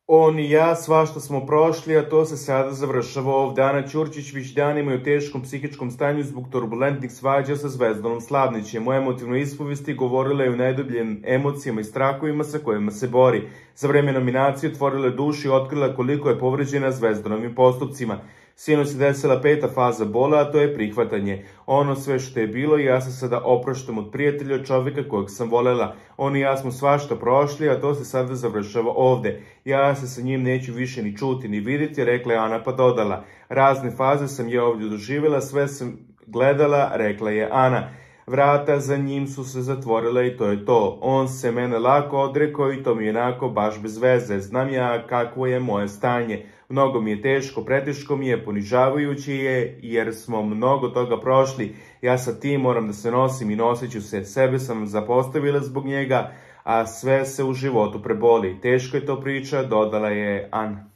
On i ja svašta smo prošli, a to se sada završava ovde. Ana Ćurčić već danima je u teškom psihičkom stanju zbog turbulentnih svađa sa Zvezdanom Slavnićem. U emotivnoj ispovesti govorila je o najdubljim emocijama i strahovima sa kojima se bori. Za vreme nominacije otvorila je dušu i otkrila koliko je povređena Zvezdanovim postupcima. Sinoć se desila 5. faza bola, a to je prihvatanje. Ono sve što je bilo, ja se sada opraštam od prijatelja, od čovjeka kojeg sam volela. On i ja smo svašta prošli, a to se sada završava ovde. Ja se sa njim neću više ni čuti ni vidjeti, rekla je Ana pa dodala. Razne faze sam ja ovdje doživjela, sve sam gledala, rekla je Ana. Vrata za njim su se zatvorila i to je to. On se mene lako odrekao i to mi je onako baš bez veze. Znam ja kakvo je moje stanje. Mnogo mi je teško, preteško mi je, ponižavajuće je, jer smo mnogo toga prošli. Ja sa tim moram da se nosim i nosit ću se. Sebe sam zapostavila zbog njega, a sve se u životu preboli. Teško je to priča, dodala je Ana.